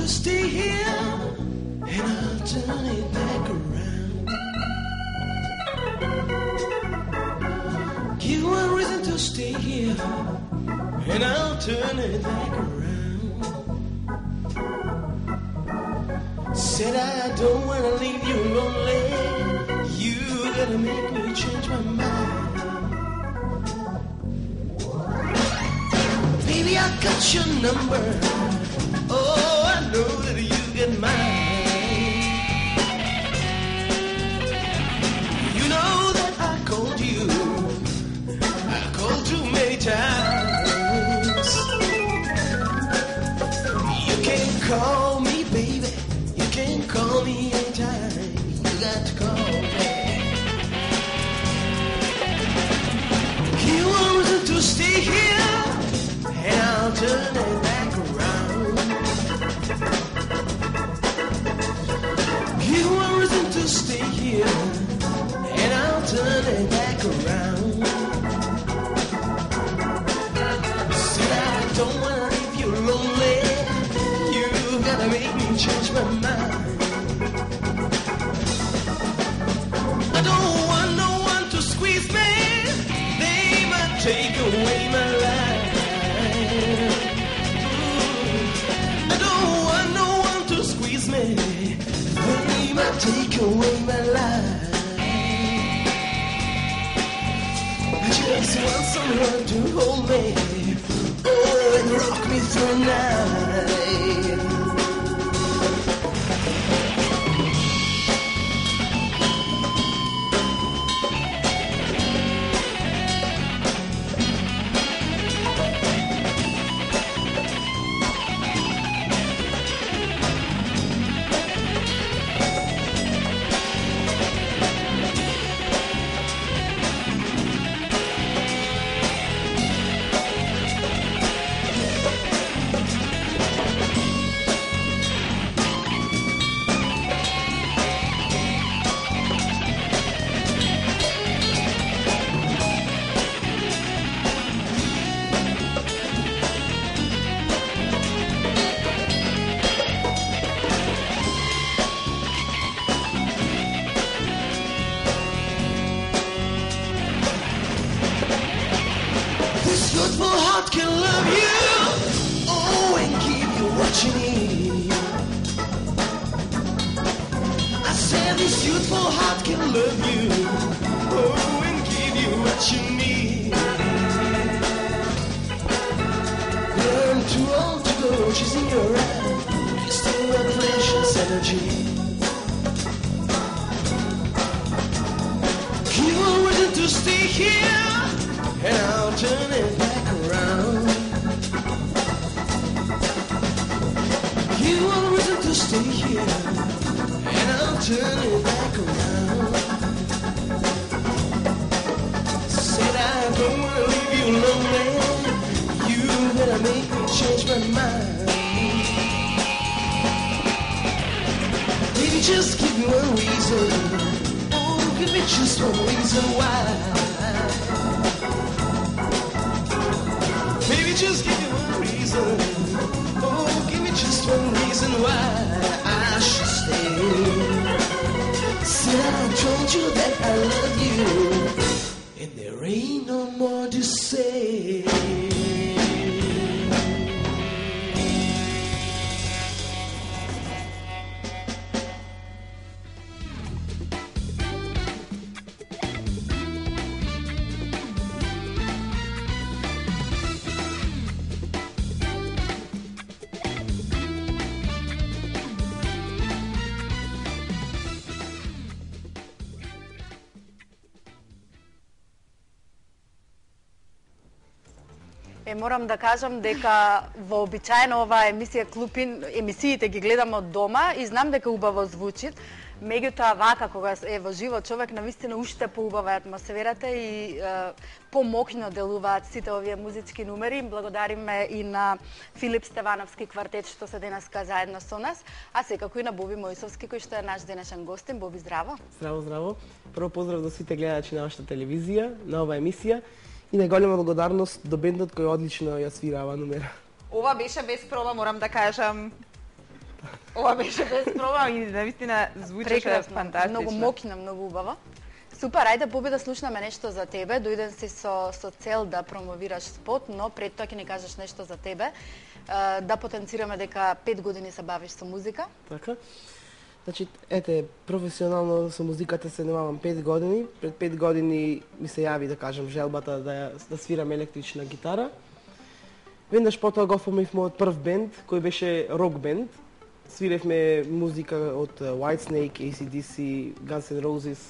stay here, and I'll turn it back around. Give one reason to stay here, and I'll turn it back around. Said I don't wanna leave you lonely. You gotta make me change my mind. Baby, I got your number. Oh, I know that you get mine. You know that I called you. I called too many times. You can call me, baby. You can call me anytime. You got to call me. You want to stay here, and I'll turn it back around. You want reason to stay here, and I'll turn it back around. Said I don't wanna leave you lonely. You gotta make me change my mind. I don't want no one to squeeze me. They might take away my life. I don't want no one to squeeze me. They might take away my life. I just want someone to hold me, oh, and rock me through the night. Морам да кажам дека вообичаено оваа емисија Клупин, емисиите ги гледам од дома и знам дека убаво звучи. Меѓутоа вака кога е во живот човек навистина уште поубава атмосферата и помокно делуваат сите овие музички numeri. Благодариме и на Филип Стевановски квартет што се денеска заедно со нас, а секако и на Боби Мојсовски кој што е наш денешен гостин. Боби, здраво. Здраво, здраво. Прво поздрав до сите гледачи на нашата телевизија, на оваа емисија. И најголема благодарност до бендот кој одлично ја свира оваа номера. Ова беше без проба, морам да кажам. Ова беше без проблем и навистина звучеше Прекрасно, фантастично. многу мокна, многу убаво. Супер, ајде Боби да слушнеме нешто за тебе. Дојден си со цел да промовираш спот, но пред тоа ќе ни кажеш нешто за тебе. Да потенцираме дека 5 години се бавиш со музика. Така. Значи, ете, професионално со музиката се занимавам 5 години. Пред 5 години ми се јави, да кажам, желбата да свирам електрична гитара. Веднаш потоа го оформив мојот прв бенд, кој беше рок бенд. Свиревме музика од Whitesnake, AC/DC, Guns N' Roses.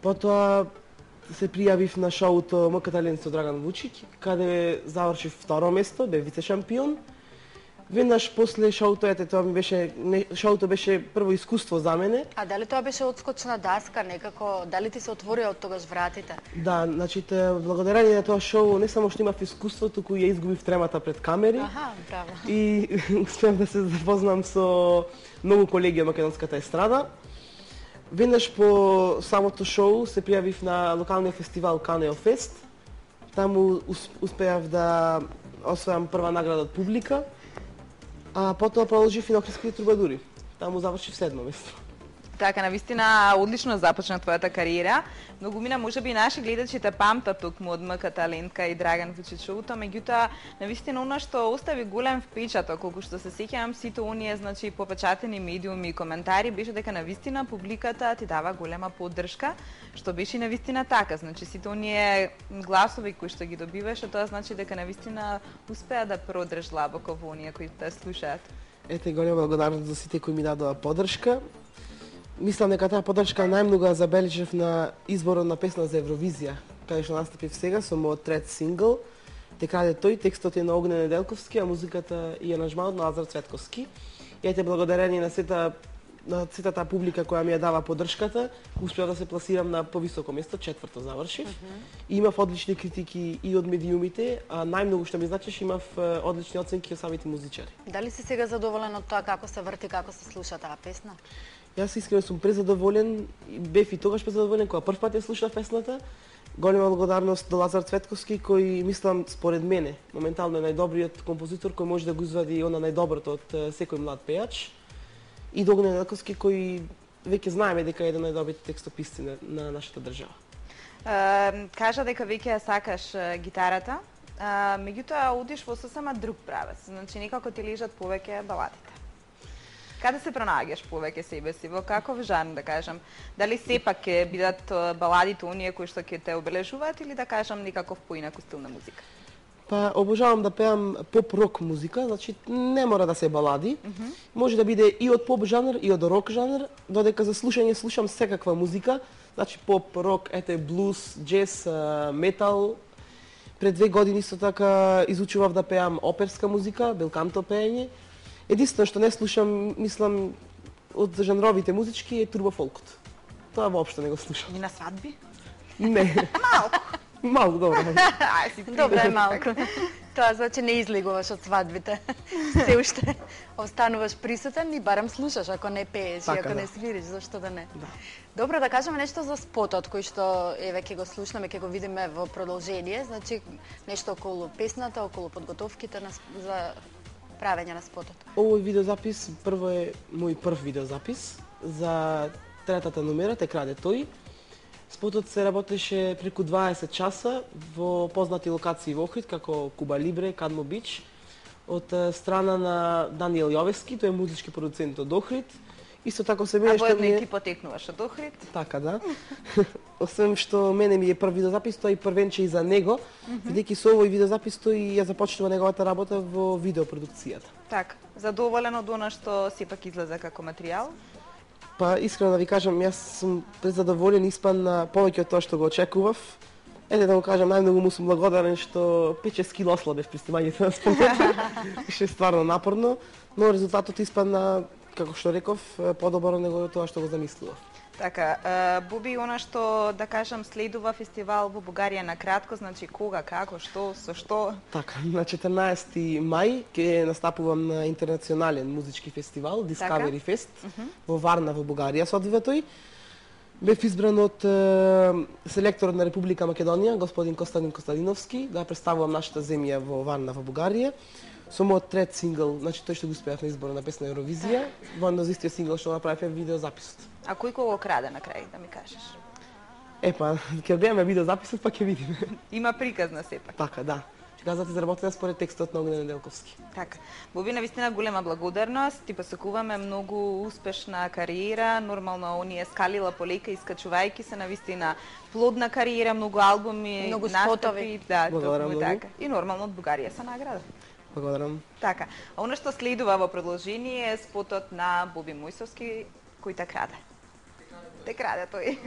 Потоа се пријавив на шоуто МК Талент со Драган Вучиќ, каде завршив второ место, бев вице шампион. Веднаш после шоуто, тоа ми беше шоуто беше прво искуство за мене. А дали тоа беше одскочна даска некако, дали ти се отворија од тогаш вратите? Да, значи благодарение на тоа шоу не само што имав искуство, туку ја изгубив тремата пред камери. Аха, браво. И успеав да се запознам со многу колеги од македонската естрада. Веднаш по самото шоу се пријавив на локалниот фестивал Канео Фест. Таму успеав да освојам прва награда од публика. А потоа продолжив и на Охридските трубадури. Таму завршив 7 место. Така, навистина одлично започна твојата кариера. Многумина можеби наши гледачи те памтат токму од МК Талентка и Драган Вучиќ шоуто, меѓутоа навистина она што остави голем впечаток, колку што се сеќавам сите оние, значи попечатени медиуми и коментари, беше дека навистина публиката ти дава голема поддршка, што беше навистина така, значи сите оние гласови кои што ги добиваше, тоа значи дека навистина успеа да продрж длабоко во оние кои те слушаат. Ете, голема благодарност за сите кои ми дадоа поддршка. Мислам дека таа поддршка најмногу ја забележав на изборот на песна за Евровизија, каде што настапив сега со мојот трет сингл. Те краде тој, текстот е на Огне Неделковски, а музиката и аранжманот на Лазар Цветковски. И ете благодарение на сета таа публика која ми ја дава поддршката, успеав да се пласирам на повисоко место, 4-то завршив. И имав одлични критики и од медиумите, а најмногу што ми значеше имав одлични оценки од самите музичари. Дали си сега задоволен од тоа како се врти, како се слуша таа песна? Јас искрено сум презадоволен, бев и тогаш презадоволен кога прв пат ја слушнав песната. Голема благодарност до Лазар Цветковски кој мислам според мене моментално е најдобриот композитор кој може да го извади она најдоброто од секој млад пејач. И до Огне Неделковски кој веќе знаеме дека е еден од најдобрите текстописци на нашата држава. Кажа дека веќе ја сакаш гитарата, меѓутоа одиш во сосема друг правец, значи некако ти лежат повеќе баладите. Каде се пронаѓаш повеќе себе си, во каков жанр да кажам? Дали сепак ќе бидат баладите оние кои што ќе те обележуваат или да кажам некаков поинаку стил на музика? Па обожавам да пеам поп-рок музика, значи не мора да се балади. Може да биде и од поп жанр и од рок жанр, додека за слушање слушам секаква музика, значи поп, рок, ете блуз, џез, метал. Пред 2 години исто така изучував да пеам оперска музика, белканто пеење. Единствено што не слушам, мислам, од жанровите музички е турбофолкот. Тоа воопшто не го слушам. И на свадби? Не. Малку. Малку, добро. Добре е малку. Тоа значи не излегуваш од свадбите. Се уште остануваш присутен и барем слушаш, ако не пееш и ако не свириш, зашто да не. Добро, да кажеме нешто за спотот кој што еве ќе го слушнеме, ќе го видиме во продолжение, значи нешто околу песната, околу подготовките за правење на спотот. Овој видеозапис прво е мој прв видеозапис за третата номера, Те краде тој. Спотот се работеше преку 20 часа во познати локации во Охрид, како Куба Либре, Кадмо Бич, од страна на Даниел Јовески, тој е музички продуцент од Охрид. Исто така се мене што ми е... ти потекнуваш од Охрид? Така, да. Освен што мене ми е прв видеозапис, тој првенче и за него, бидејќи со овој видеозапис тој ја започнува неговата работа во видеопродукцијата. Така, задоволен од она што сепак излезе како материјал? Па искрено да ви кажам, јас сум презадоволен, испан на повеќе од тоа што го очекував. Ете да го кажам, најмногу му сум благодарен што 5-6 кило ослабев при снимањето на спотот. Беше стварно напорно, но резултатот испадна, како што реков, подобро него тоа што го замислував. Така, Боби, она што, да кажам, следува фестивал во Бугарија на кратко, значи кога, како, што, со што? Така, на 14 мај ќе настапувам на интернационален музички фестивал, Discovery Fest, во Варна во Бугарија се одвива тој. Бев избран од селекторот на Република Македонија, господин Костадин Костадиновски, да представувам нашата земја во Варна во Бугарија. со мојот трет сингл, значи тој што го успеав на избора на песна Евровизија, воедно за истиот сингл што направив видеозаписот. А кој го краде на крај, да ми кажеш? Епа, ќе одбиеме видеозаписот, па ќе видиме. Има приказна сепак. Така, да. Ќе кажат изработена според текстот на Огнен Неделковски. Така. Боби, навистина голема благодарност, ти посакуваме многу успешна кариера, нормално оние скалила полека искачувајќи се, навистина плодна кариера, многу албуми, Многу настапи, спотови. да, Благодарам токму многу. така. И нормално од Бугарија се награда. Благодарам. Така. А она што следува во продолжение е спотот на Боби Мојсовски, кој те краде. Те краде тој.